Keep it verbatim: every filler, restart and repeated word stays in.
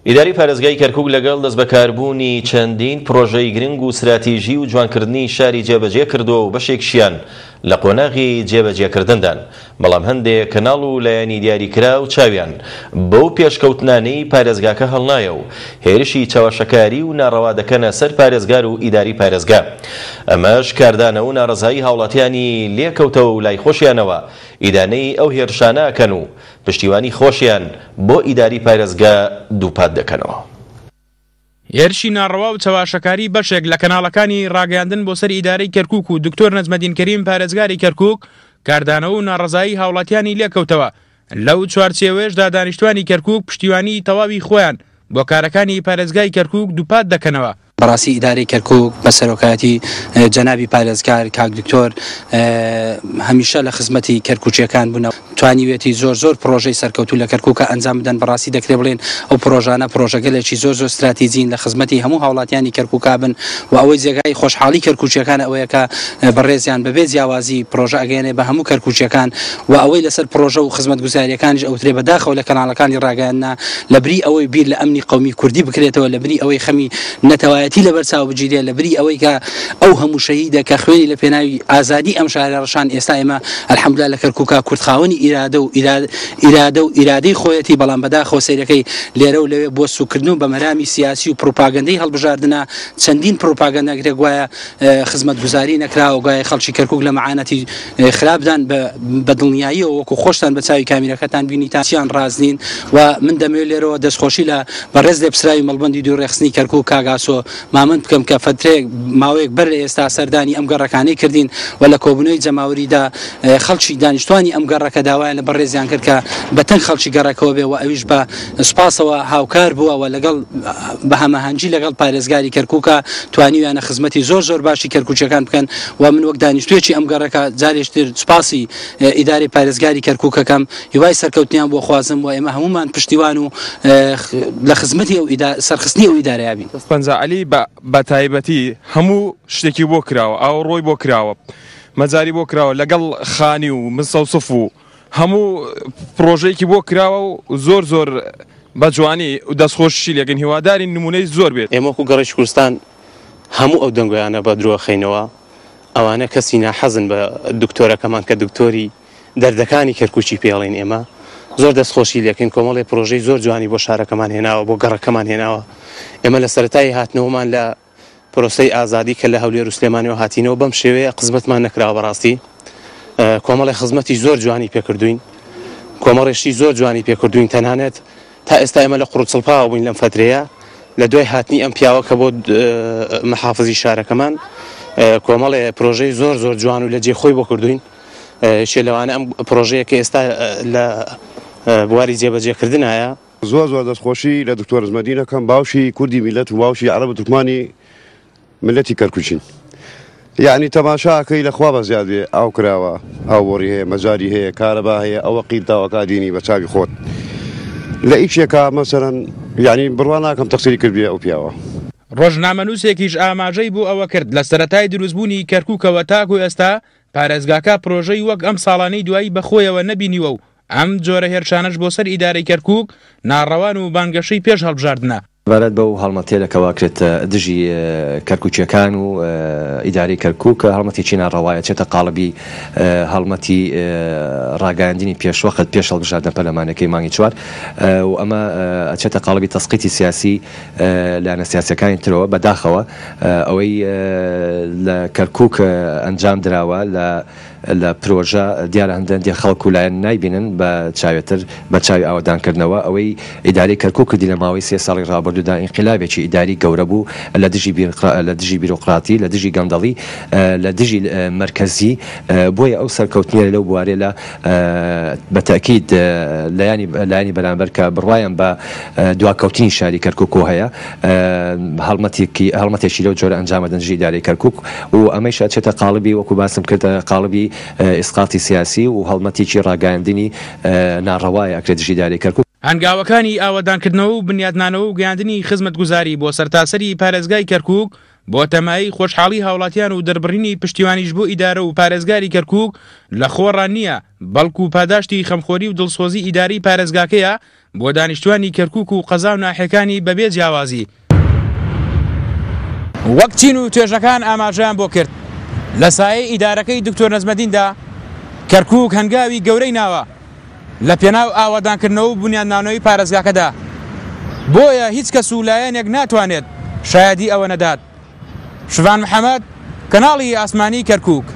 ئیداری پارێزگای کەرکوک لەگەڵ دەستبەکاربوونی چەندین پرۆژەی گرنگ و ستراتیژی و جوانکردنی شاری جێبەجێ کردووە و بەشێکشیان لە قۆناغی جێبەجێکردندان، بەڵام هەندێک کەناڵ و لایەنی دیاریکرا و چاویان بەو پێشکەوتنانەی پارێزگاکە هەڵنایە و هێرشی چەواشەکاری و ناڕەوا دەکەنە سەر پارێزگار و ئیداری پارێزگا. ئەمەش کاردانە و ناڕەزایی هاوڵاتیانی لێکەوتەوە و لای خۆشیانەوە ئیدانەی ئەو هێرشانە ئەکەن و پشتیوانی خۆشیان بۆ ئیداری پارێزگا دووپات دەکەنەوە. هێرشی ناڕەوا و چەواشەکاری بەشێک لە کەناڵەکانی ڕاگەیاندن بۆ سەر ئیدارەی کەرکوک و دکتۆر نەجمەدین کەریم پارێزگاری کەرکوک کاردانەوە و ناڕەزایی هاوڵاتیانی لێکەوتەوە. لەو چوارچێوەیەشدا دانیشتوانی کەرکوک پشتیوانی تەواوی خۆیان بۆ کارەکانی پارێزگای کەرکوک دووپات دەکەنەوە. بەڕاستی ئیدارەی کەرکوک بە سەرۆکایەتی جەنابی پارێزگار کاک دکتۆر هەمیشە لە خزمەتی کەرکوچیەکان بوون، توانیوێتی زۆر زۆر پرۆژەی سەرکەوتوو لە کەرکوکە ئەنجام بدەن. بەڕاستی دەکرێت بڵێن ئەو پرۆژانە پرۆژەگەلێکی زۆر زۆر استراتیژین لە خزمەتی هەموو هاوڵاتیانی کەرکوکا بن و ئەوەی جێگای خۆشحاڵی کەرکوچیەکان ئەوەیە کە بەڕێزیان بەبێ جیاوازی پرۆژە ئەگەیەنێ بە هەموو کەرکوچیەکان و ئەوەی لەسەر پرۆژە و خزمەتگوزاریەکانیش ئەوترێ بەداخەوە لە کەناڵەکانی ڕاگەیاندنا لەبری ئەوەی بیر لە ئەمنی قەومی کوردی بکرێتەوە، لەبری ئەوەی خەمی نەتەوایەتی لەبەر چاو بگیرێ، لەبری ئەوەی کە ئەو هەموو شەهیدە کە خوێنی لە پێناوی ئازادی ئەم شارە ڕشان، ئێستا ئێمە ئەلحەمدولillah لە کەرکوکا کورد خاوەنی ئیرادە و ئیرادە و ئیرادەی خۆیەتی، بەڵام بەداخەوە سەیرەکەی لێرە و لەوێ بۆ سوکردن و بە مەرامی سیاسی و پروپاگەندەی هەڵبژاردنە چەندین پروپاگەندە کرێ گوایە خزمەتگوزاری نەکراوە، گوایە خەڵکی کەرکوک لە مەعانەتی خراپدان بە دڵنیاییەوە وەکو خۆشتان بە چاوی کامیرەکەتان بینیتان چیان ڕاز نین. و من دەمەوێت لێرەوە دەستخۆشی لە بەڕێز لێپسراوی مەڵبەندی دوو ڕێخستنی کەرکوک کاک ئاسۆ مامەند بکەم کە فترێک ماوەیەک بەر لە ئێستا سەردانی ئەم گەڕەکانەی کردین و لە کۆبوونەوەی جەماوەریدا خەڵکی دانیشتوانی ئەم گەڕەکە داوایان لە بەڕێزیان کرد کە بەتەنگ خەڵکی گەڕەکەوە بێ و ئەویش بە سوپاسەوە هاوکار بووە و لەگەڵ بە هەماهەنگی لەگەڵ پارێزگاری کەرکوکە توانیویانە خزمەتی زۆر زۆر باشی کەرکوچیەکان بکەن. و من وەک دانیشتوویەکی ئەم گەڕەکە جارێکتر سوپاسی ئیدارەی پارێزگاری کەرکوکەکەم، هیوای سەرکەوتنیان بۆ خوازم و ئێمە هەمومان پشتیوان و لە خزمەتی ئەو سەرخستنی ئەو ئیدارەیە بین. پەنجا عەلی بە تایبەتی هەموو شتێکی بۆ کراوە، ئاوڕۆی بۆ کراوە، مەجاری بۆ کراوە، لەگەڵ خانی و مسەوسف و هەموو پرۆژەیەکی بۆ کراوە و زۆر زۆر بە جوانی و دەستخۆشی لێکن. هیوادارین نمونەی زۆر بێت. ئێمە وەکو گەڕێکی کوردستان هەموو ئەو دەنگۆیانە بە درۆخەینەوە، ئەوانە کەسی ناحەزن بە دکتۆرەکەمان کە دکتۆری دەردەکانی کەرکوچی پێڵین. ئێمە زۆر دەستخۆشی لێکن، کۆمەڵی پرۆژەی زۆر جوانی بۆ شارەکەمان هێناوە، بۆ گەڕەکەمان هێناوە. ئێمە لە سەرەتای هاتنەوەمان لە پرۆسەی ئازادی کە لە هەولێر و سلێمانیەوە هاتینەوە بەم شێوەیە قزمەتمان نەکراوە. بەڕاستی کۆمەڵی خزمەتی زۆر جوانی پێکردوین، کۆمەڵێشی زۆر جوانی پێکردوین. تەنانەت تا ئێستا ئێمە لە قوڕچڵپاوە بووین لەم فترەیە لە دوای هاتنی ئەم پیاوە کە بۆ محافزی شارەکەمان کۆمەڵێ پرۆژەی زۆر زۆر جوان و لە جێ خۆی بۆ کردوین. شێ لەوانە ئەم پرۆژەیە کە ئێستا لە بواری جێبەجێکردنایە. زۆر زۆر دەستخۆشی لە دکتۆر نەجمەدین ئەکەم، باوشی کوردی میلەت و باوشی عەرەب و تورکمانی میلەتی کەرکوچین. یعنی تەماشاکەی لە خوا بەزیاد بێ، ئاو کراوە، ئاو بۆڕی هەیە، مەجاری هەیە، کارەبا هەیە، ئەوە قیرتاوەکە دینی بە چاوی خۆت. لە ئیشێکا مەسەرەن یعنی بڕوا ناکەم تەقسیری کردبێ ئەو پیاوە. ڕۆژنامەنووسێکیش ئاماژەی بۆ ئەوە کرد لە سەرەتای دروستبوونی کەرکوکەوە تاکو ئێستا پارێزگاکە پرۆژەی وەک ئەم ساڵانەی دوایی بەخۆیەوە نەبینیوە و ئەم جۆرە هێرشانەش بۆ سەر ئیدارەی کەرکوک ناڕەوان و بانگەشەی پێش هەڵبژاردنە. بارەت بەو هەڵمەتێ لەکەوا کرێت دژی کەرکوچیەکان و ئیدارەی کەرکوک هەڵمەتێکی ناڕەوایە، چێتە قاڵبی هەڵمەتی ڕاگەیاندنی پێشوەخت پێش هەڵبژاردنە پەرلەمانەکەی مانگی چوار و ئەمە ئەچێتە قاڵبی تەسقیتی سیاسی لایەنە سیاسیەکانی ترەوە. بەداخەوە ئەوەی لە کەرکوک ئەنجام دراوە لە لە پرۆژە دیارە هەندێک خەڵک و لایەن نایبینن بە چاوێتر بە چاوی ئاوەدانکردنەوە. ئەوەی ئیدارەی کەرکوک کردی لە ماوەی سێ ساڵی ڕابردوودا ئینقلابێکی ئیداری گەورە بوو لە دژی لە دژی بیرۆقراتی، لە دژی گەندەڵی، لە دژی مەرکەزی. بۆیە ئەو سەرکەوتنیە لەو بوارێ لە بە تەئکید لایەنی لایەنی بەرامبەر کە بڕوایان بە دواکەوتنی شاری کەرکوک هەیە هەڵمەتێکی هەڵمەتێکی لەو جۆرە ئەنجامەدەن دژی ئیدارەی کەرکوک و ئەمەیش ئەچێتە قاڵبی وەکو باسم کردە قاڵبی ئیسقاطی سیاسی و هەڵمەتێکی ڕاگەیاندنی ناڕەوایە ئەکرێت دژی ئیدارەی کەرکوک. هەنگاوەکانی ئاوەدانکردنەوە و بنیادنانەوە و گەیاندنی خزمەتگوزاری بۆ سەرتاسەری پارێزگای کەرکوک بۆتە مایەی خۆشحاڵی هاوڵاتیان و دەربڕینی پشتیوانیش بۆ ئیدارە و پارێزگاری کەرکوک لە خۆڕا نییە، بەڵکو پاداشتی خەمخۆری و دڵسۆزی ئیدارەی پارێزگاکەیە بۆ دانیشتوانی کەرکوک و قەزا و ناحیەکانی بەبێ جیاوازی. وەک چین و توێژەکان ئاماژەیان بۆ کرد، لە سایەی ئیدارەکەی دکتۆر نەجمەدیندا کەرکوک هەنگاوی گەورەی ناوە لە پێناو ئاوەدانکردنەوە و بونیادنانەوەی پارێزگاکەدا، بۆیە هیچ کەس و لایەنێک ناتوانێت شایەدی ئەوە نەدات. شڤان محەمەد، کەناڵی ئاسمانی کەرکوک.